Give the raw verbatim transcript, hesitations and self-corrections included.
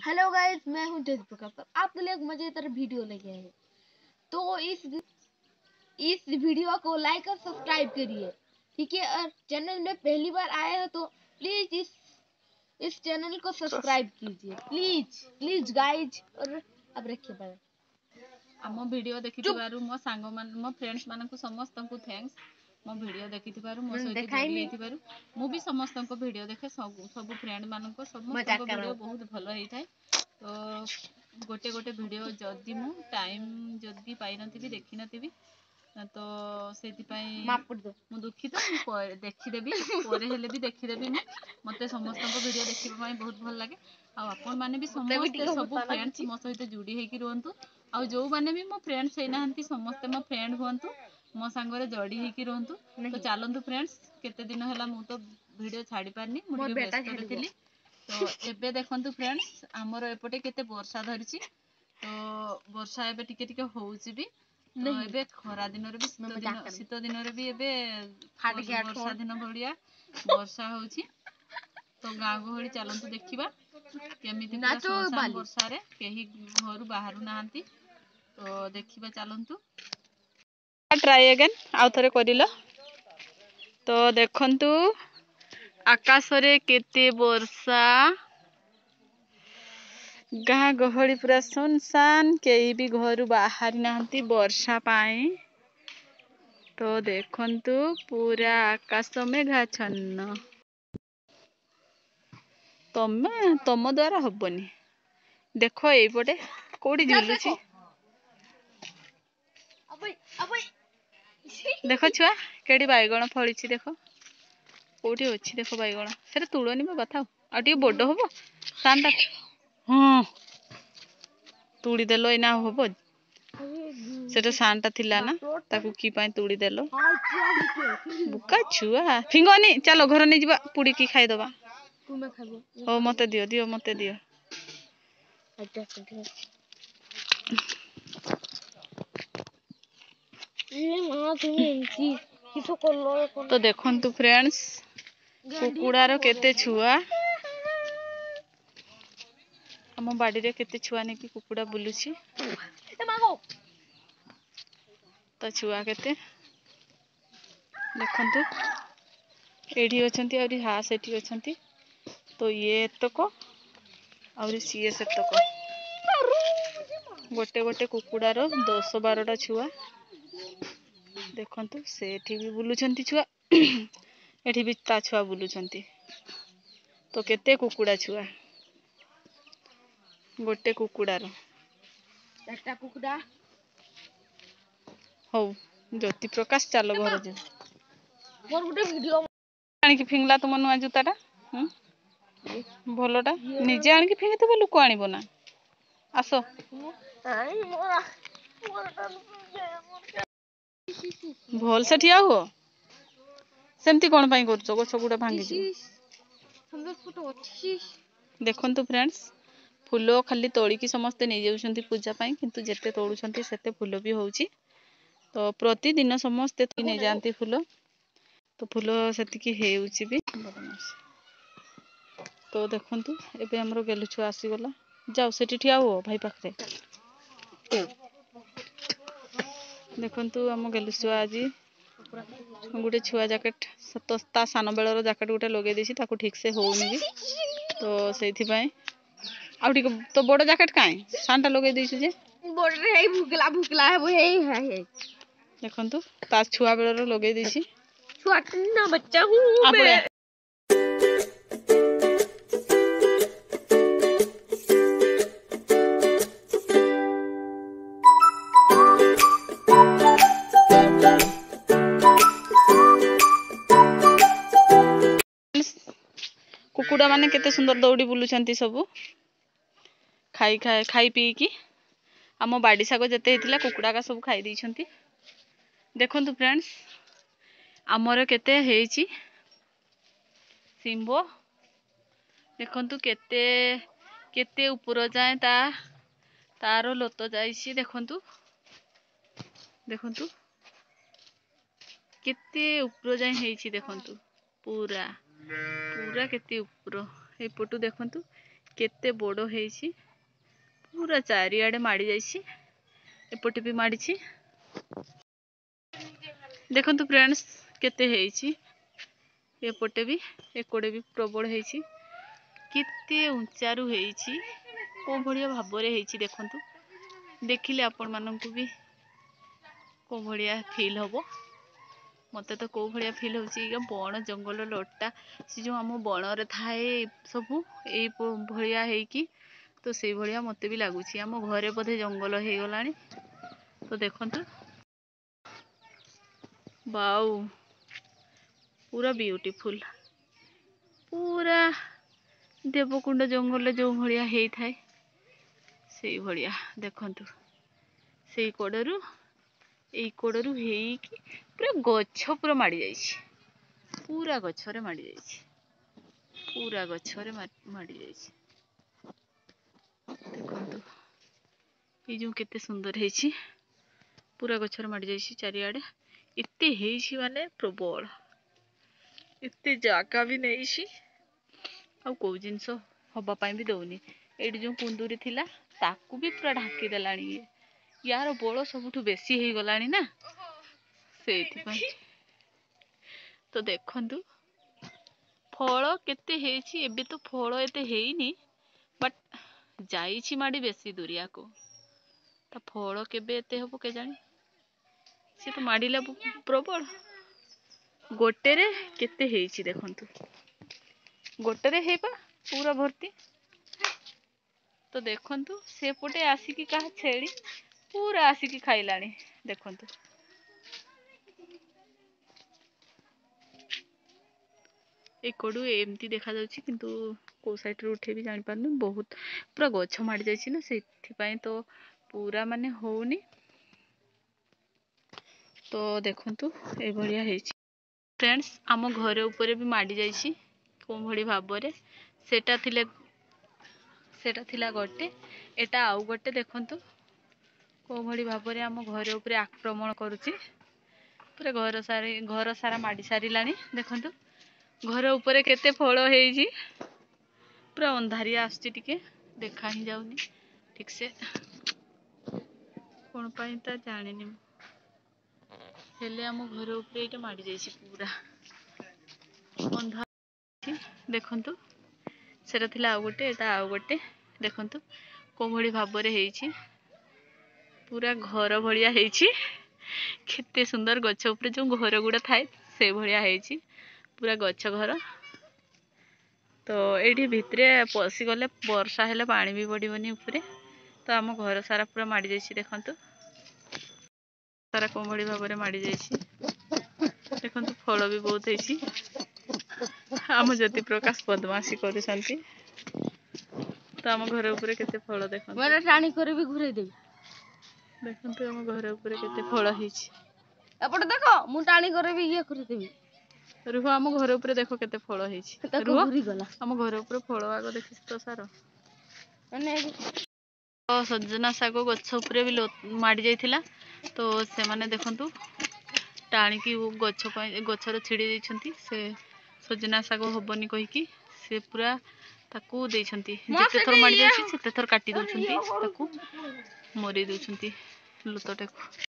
Hello guys, मैं हूं ज्योति प्रकाश और आपके लिए एक मजेदार वीडियो लेके आए हैं। तो इस इस वीडियो को लाइक और सब्सक्राइब करिए, ठीक है। और चैनल में पहली बार आए हो तो प्लीज इस इस चैनल को सब्सक्राइब कीजिए, प्लीज प्लीज गाइज। और अब रखिए, बाय। ଆମ ଭିଡ଼ିଓ ଦେଖିଥିବାରୁ ମୋ ସାଙ୍ଗମାନ, ମୋ ଫ୍ରେଣ୍ଡସ୍ ମାନଙ୍କୁ ସମସ୍ତଙ୍କୁ thanks. ମୋ ଭିଡ଼ିଓ ଦେଖିଥିବାରୁ, ମୋ ସହିତ ଯୋଡ଼ି ହେଇଥିବାରୁ। ମୁଁ ବି ସମସ୍ତଙ୍କ ଭିଡ଼ିଓ ଦେଖେ, ସବୁ ସବୁ ଫ୍ରେଣ୍ଡ ମାନଙ୍କ ସମସ୍ତଙ୍କ ଭିଡ଼ିଓ ବହୁତ ଭଲ ହେଇଥାଏ। ତ ଗୋଟେ ଗୋଟେ ଭିଡ଼ିଓ ଯଦି ମୁଁ ଟାଇମ୍ ଯଦି ପାଇନଥିବି, ଦେଖିନଥିବି, ତ ସେଇଥିପାଇଁ ମୁଁ ଦୁଃଖିତ। ମୁଁ ଦେଖିଦେବି, ପରେ ହେଲେ ବି ଦେଖିଦେବି। ମୁଁ ମୋତେ ସମସ୍ତଙ୍କ ଭିଡ଼ିଓ ଦେଖିବା ପାଇଁ ବହୁତ ଭଲ ଲାଗେ। ଆଉ ଆପଣମାନେ ବି ସମସ୍ତେ ସବୁ ଫ୍ରେଣ୍ଡସ୍ ମୋ ସହିତ ଯୋଡ଼ି ହେଇକି ରୁହନ୍ତୁ। ଆଉ ଯେଉଁମାନେ ବି ମୋ ଫ୍ରେଣ୍ଡସ୍ ହେଇନାହାନ୍ତି, ସମସ୍ତେ ମୋ ଫ୍ରେଣ୍ଡ ହୁଅନ୍ତୁ, ମୋ ସାଙ୍ଗରେ ଯୋଡ଼ି ହେଇକି ରୁହନ୍ତୁ। ତ ଚାଲନ୍ତୁ ଫ୍ରେଣ୍ଡସ୍, କେତେ ଦିନ ହେଲା ମୁଁ ତ ଭିଡ଼ିଓ ଛାଡ଼ି ପାରିନି, ମୁଁ ଟିକେ ବ୍ୟସ୍ତରେ ଥିଲି। ତ ଏବେ ଦେଖନ୍ତୁ ଫ୍ରେଣ୍ଡସ୍, ଆମର ଏପଟେ କେତେ ବର୍ଷା ଧରିଛି। ତ ବର୍ଷା ଏବେ ଟିକେ ଟିକେ ହେଉଛି ବି। ତ ଏବେ ଖରା ଦିନରେ ବି, ଶୀତ ଦିନ ଶୀତ ଦିନରେ ବି ଏବେ ବର୍ଷା ଦିନ ଭଳିଆ ବର୍ଷା ହେଉଛି। ତ ଗାଁ ଗହଳି ଚାଲନ୍ତୁ ଦେଖିବା କେମିତି ବର୍ଷାରେ କେହି ଘରୁ ବାହାରୁ ନାହାନ୍ତି। ତ ଦେଖିବା ଚାଲନ୍ତୁ। ଟ୍ରାଏ ଏଗେନ୍, ଆଉ ଥରେ କରିଲ। ତ ଦେଖନ୍ତୁ ଆକାଶରେ କେତେ ବର୍ଷା, ଗାଁ ଗହଳି ପୁରା ସୁନସାନ, କେହି ବି ଘରୁ ବାହାରି ନାହାନ୍ତି ବର୍ଷା ପାଇଁ। ତ ଦେଖନ୍ତୁ ପୁରା ଆକାଶ ମେଘାଚ୍ଛନ୍ନ। ତମେ ତମ ଦ୍ୱାରା ହବନି। ଦେଖ ଏଇପଟେ କୋଉଠି ଝୁଲୁଛି ଦେଖ ଛୁଆ, କେଠି ବାଇଗଣ ଫଳିଛି ଦେଖ, କୋଉଠି ଅଛି ଦେଖ ବାଇଗଣ। ସେଟା ତୁଳନି ବାବା, ଥାଉ, ଆଉ ଟିକେ ବଡ ହବ ସାନଟା। ହଁ, ତୁଳି ଦେଲ, ଏଇନା ହବ। ସେଟା ସାନଟା ଥିଲା ନା, ତାକୁ କି ପାଇଁ ତୁଳି ଦେଲ? ବୁକା ଛୁଆ, ଫିଙ୍ଗନି, ଚାଲ ଘର ନେଇଯିବା, ପୁଡ଼ିକି ଖାଇଦବା। ହଉ ମତେ ଦିଅ, ଦିଅ ମତେ ଦିଅ। ତ ଦେଖନ୍ତୁ ଫ୍ରେଣ୍ଡସ୍, କୁକୁଡ଼ାର କେତେ ଛୁଆ, ଆମ ବାଡ଼ିରେ କେତେ ଛୁଆ ନେଇକି କୁକୁଡ଼ା ବୁଲୁଛି। ତ ଛୁଆ କେତେ ଦେଖନ୍ତୁ, ଏଇଠି ଅଛନ୍ତି, ଆହୁରି ହା ସେଠି ଅଛନ୍ତି। ତ ଇଏ ଏତକ, ଆହୁରି ସିଏ ସେତକ। ଗୋଟେ ଗୋଟେ କୁକୁଡ଼ାର ଦଶ ବାରଟା ଛୁଆ। ଦେଖନ୍ତୁ ସେଠି ବି ବୁଲୁଛନ୍ତି ଛୁଆ, ଏଠି ବି ତା ଛୁଆ ବୁଲୁଛନ୍ତି। ତ କେତେ କୁକୁଡ଼ା ଛୁଆ ଗୋଟେ କୁକୁଡ଼ାର। ହଉ ଜ୍ୟୋତି ପ୍ରକାଶ, ଚାଲ ଘର ଯିବ। ଆଣିକି ଫିଙ୍ଗଲା ତୁମ ନୂଆ ଜୁତାଟା ଭଲଟା, ନିଜେ ଆଣିକି ଫିଙ୍ଗିଥିବ, ଲୋକ ଆଣିବ ନା? ଆସ ଭଲସେ ଠିଆ ହୁଅ। ସେମିତି କ'ଣ ପାଇଁ କରୁଛ? ଗଛ ଗୁଡ଼ା ଭାଙ୍ଗିଯିବ। ଦେଖନ୍ତୁ ଫ୍ରେଣ୍ଡସ୍, ଫୁଲ ଖାଲି ତୋଳିକି ସମସ୍ତେ ନେଇଯାଉଛନ୍ତି ପୂଜା ପାଇଁ, କିନ୍ତୁ ଯେତେ ତୋଳୁଛନ୍ତି ସେତେ ଫୁଲ ବି ହେଉଛି। ତ ପ୍ରତିଦିନ ସମସ୍ତେ ନେଇଯାଆନ୍ତି ଫୁଲ, ତ ଫୁଲ ସେତିକି ହେଉଛି ବି। ତ ଦେଖନ୍ତୁ ଏବେ ଆମର ଗେଲୁ ଛୁଆ ଆସିଗଲା। ଯାଅ ସେଠି ଠିଆ ହୁଅ ଭାଇ ପାଖରେ। ଦେଖନ୍ତୁ ଆମ ଗେଲୁ ଛୁଆ ଆଜି ଗୋଟେ ଛୁଆ ଜ୍ୟାକେଟ୍, ତା ସାନ ବେଳର ଜ୍ୟାକେଟ୍ ଗୋଟେ ଲଗେଇ ଦେଇଛି, ତାକୁ ଠିକ୍ସେ ହେଉନି ବି, ତ ସେଇଥିପାଇଁ। ଆଉ ଟିକେ ତ ବଡ଼ ଜ୍ୟାକେଟ୍ କାଇଁ, ସାନଟା ଲଗେଇ ଦେଇଛୁ ଯେ? ଦେଖନ୍ତୁ ତା ଛୁଆ ବେଳର ଲଗେଇ ଦେଇଛି। କୁକୁଡ଼ା ମାନେ କେତେ ସୁନ୍ଦର ଦୌଡ଼ି ବୁଲୁଛନ୍ତି ସବୁ ଖାଇ ଖାଇ ଖାଇ ପିଇକି। ଆମ ବାଡ଼ି ଶାଗ ଯେତେ ହେଇଥିଲା କୁକୁଡ଼ାକା ସବୁ ଖାଇ ଦେଇଛନ୍ତି। ଦେଖନ୍ତୁ ଫ୍ରେଣ୍ଡସ୍, ଆମର କେତେ ହେଇଛି ଶିମ୍ବ। ଦେଖନ୍ତୁ କେତେ କେତେ ଉପର ଯାଏଁ ତା ତାର ଲୋତ ଯାଇଛି। ଦେଖନ୍ତୁ ଦେଖନ୍ତୁ କେତେ ଉପର ଯାଏଁ ହେଇଛି। ଦେଖନ୍ତୁ ପୁରା ପୁରା କେତେ ଉପର। ଏପଟୁ ଦେଖନ୍ତୁ କେତେ ବଡ଼ ହେଇଛି, ପୁରା ଚାରିଆଡ଼େ ମାଡ଼ି ଯାଇଛି, ଏପଟେ ବି ମାଡ଼ିଛି। ଦେଖନ୍ତୁ ଫ୍ରେଣ୍ଡସ୍, କେତେ ହେଇଛି। ଏପଟେ ବି, ଏକଡ଼େ ବି ପ୍ରବଳ ହେଇଛି। କେତେ ଉଞ୍ଚାରୁ ହେଇଛି, କେଉଁ ଭଳିଆ ଭାବରେ ହେଇଛି ଦେଖନ୍ତୁ। ଦେଖିଲେ ଆପଣମାନଙ୍କୁ ବି କେଉଁ ଭଳିଆ ଫିଲ୍ ହେବ। ମୋତେ ତ କେଉଁ ଭଳିଆ ଫିଲ୍ ହେଉଛି, ବଣ ଜଙ୍ଗଲ ଲଟା, ସେ ଯେଉଁ ଆମ ବଣରେ ଥାଏ ସବୁ ଏଇ ଭଳିଆ ହେଇକି, ତ ସେଇଭଳିଆ ମୋତେ ବି ଲାଗୁଛି। ଆମ ଘରେ ବୋଧେ ଜଙ୍ଗଲ ହେଇଗଲାଣି। ତ ଦେଖନ୍ତୁ, ବାଉ, ପୁରା ବିୟୁଟିଫୁଲ୍, ପୁରା ଦେବକୁଣ୍ଡ ଜଙ୍ଗଲରେ ଯେଉଁ ଭଳିଆ ହେଇଥାଏ ସେଇଭଳିଆ। ଦେଖନ୍ତୁ, ସେଇ କଡ଼ରୁ ଏଇ କଡ଼ରୁ ହେଇକି ପୁରା ଗଛ ପୁରା ମାଡ଼ି ଯାଇଛି, ପୁରା ଗଛରେ ମାଡ଼ି ଯାଇଛି, ପୁରା ଗଛରେ ମାଡ଼ି ଯାଇଛି। ଦେଖନ୍ତୁ, ଏଇ ଯେଉଁ କେତେ ସୁନ୍ଦର ହେଇଛି, ପୁରା ଗଛରେ ମାଡ଼ି ଯାଇଛି ଚାରିଆଡ଼େ। ଏତେ ହେଇଛି ମାନେ ପ୍ରବଳ, ଏତେ ଜାଗା ବି ନେଇଛି, ଆଉ କେଉଁ ଜିନିଷ ହବା ପାଇଁ ବି ଦେଉନି। ଏଇଠି ଯେଉଁ କୁନ୍ଦୁରି ଥିଲା ତାକୁ ବି ପୁରା ଢାଙ୍କି ଦେଲାଣି ଇଏ। ୟାର ବଳ ସବୁଠୁ ବେଶୀ ହେଇଗଲାଣି ନା, ସେଇଥିପାଇଁ। ତ ଦେଖନ୍ତୁ ଫଳ କେତେ ହେଇଛି। ଏବେ ତ ଫଳ ଏତେ ହେଇନି, ବଟ୍ ଯାଇଛି ମାଡ଼ି ବେଶୀ ଦୁରିଆକୁ। ତା ଫଳ କେବେ ଏତେ ହବ କେଜାଣି? ସେ ତ ମାଡ଼ିଲା ପ୍ରବଳ। ଗୋଟେରେ କେତେ ହେଇଛି ଦେଖନ୍ତୁ, ଗୋଟେରେ ହେଇପା ପୁରା ଭର୍ତ୍ତି। ତ ଦେଖନ୍ତୁ, ସେପଟେ ଆସିକି କାହା ଛେଳି ପୁରା ଆସିକି ଖାଇଲାଣି। ଦେଖନ୍ତୁ, ଏକଡ଼ୁ ଏମିତି ଦେଖାଯାଉଛି, କିନ୍ତୁ କେଉଁ ସାଇଡ଼ରୁ ଉଠେଇବି ଜାଣିପାରୁନି। ବହୁତ ପୁରା ଗଛ ମାଡ଼ି ଯାଇଛି ନା, ସେଇଥିପାଇଁ ତ ପୁରା ମାନେ ହେଉନି। ତ ଦେଖନ୍ତୁ, ଏଇଭଳିଆ ହେଇଛି ଫ୍ରେଣ୍ଡସ୍। ଆମ ଘର ଉପରେ ବି ମାଡ଼ି ଯାଇଛି କେଉଁ ଭଳି ଭାବରେ। ସେଟା ଥିଲେ, ସେଟା ଥିଲା ଗୋଟେ, ଏଟା ଆଉ ଗୋଟେ। ଦେଖନ୍ତୁ କେଉଁ ଭଳି ଭାବରେ ଆମ ଘର ଉପରେ ଆକ୍ରମଣ କରୁଛି, ପୁରା ଘର ସାରି ଘର ସାରା ମାଡ଼ି ସାରିଲାଣି। ଦେଖନ୍ତୁ ଘର ଉପରେ କେତେ ଫଳ ହେଇଛି। ପୁରା ଅନ୍ଧାରିଆ ଆସୁଛି, ଟିକେ ଦେଖା ହିଁ ଯାଉନି ଠିକସେ, କ'ଣ ପାଇଁ ତା ଜାଣିନି ମୁଁ। ହେଲେ ଆମ ଘର ଉପରେ ଏଇଟା ମାଡ଼ି ଯାଇଛି, ପୁରା ଅନ୍ଧାର। ଦେଖନ୍ତୁ, ସେଟା ଥିଲା ଆଉ ଗୋଟେ, ଏଇଟା ଆଉ ଗୋଟେ। ଦେଖନ୍ତୁ କେଉଁ ଭଳି ଭାବରେ ହେଇଛି, ପୁରା ଘର ଭଳିଆ ହେଇଛି। କେତେ ସୁନ୍ଦର, ଗଛ ଉପରେ ଯେଉଁ ଘର ଗୁଡ଼ା ଥାଏ ସେଇଭଳିଆ ହେଇଛି, ପୁରା ଗଛ ଘର। ତ ଏଇଠି ଭିତରେ ପଶିଗଲେ ବର୍ଷା ହେଲେ ପାଣି ବି ପଡ଼ିବନି ଉପରେ। ତ ଆମ ଘର ସାରା ପୁରା ମାଡ଼ି ଯାଇଛି। ଦେଖନ୍ତୁ ସାରା କେଉଁ ଭଳି ଭାବରେ ମାଡ଼ି ଯାଇଛି। ଦେଖନ୍ତୁ, ଫଳ ବି ବହୁତ ହେଇଛି। ଆମ ଜ୍ୟୋତି ପ୍ରକାଶ ବଦମାସି କରୁଛନ୍ତି। ତ ଆମ ଘର ଉପରେ କେତେ ଫଳ ଦେଖନ୍ତୁ। ଟାଣି କରି ବି ଘୁରେଇ ଦେବି। ଦେଖନ୍ତୁ ଆମ ଘର ଉପରେ କେତେ ଫଳ ହେଇଛି। ଏପଟେ ଦେଖ, ମୁଁ ଟାଣି କରି ବି ଇଏ କରିଦେବି। ରୁହ, ଆମ ଘର ଉପରେ ଦେଖ କେତେ ଫଳ ହେଇଛି। ରୁହ, ଆମ ଘର ଉପରେ ଫଳ ଆଗ ଦେଖିଛି ତ ସାର। ମାନେ ସଜନା ଶାଗ ଗଛ ଉପରେ ବି ମାଡ଼ି ଯାଇଥିଲା, ତ ସେମାନେ ଦେଖନ୍ତୁ ଟାଣିକି ଗଛ ପାଇଁ ଗଛରେ ଛିଡ଼େଇ ଦେଇଛନ୍ତି। ସେ ସଜନା ଶାଗ ହବନି କହିକି ସେ ପୁରା ତାକୁ ଦେଇଛନ୍ତି। ଯେତେ ଥର ମାଡ଼ି ଯାଉଛି ସେତେ ଥର କାଟି ଦେଉଛନ୍ତି, ତାକୁ ମରେଇ ଦେଉଛନ୍ତି ଲୁତଟାକୁ।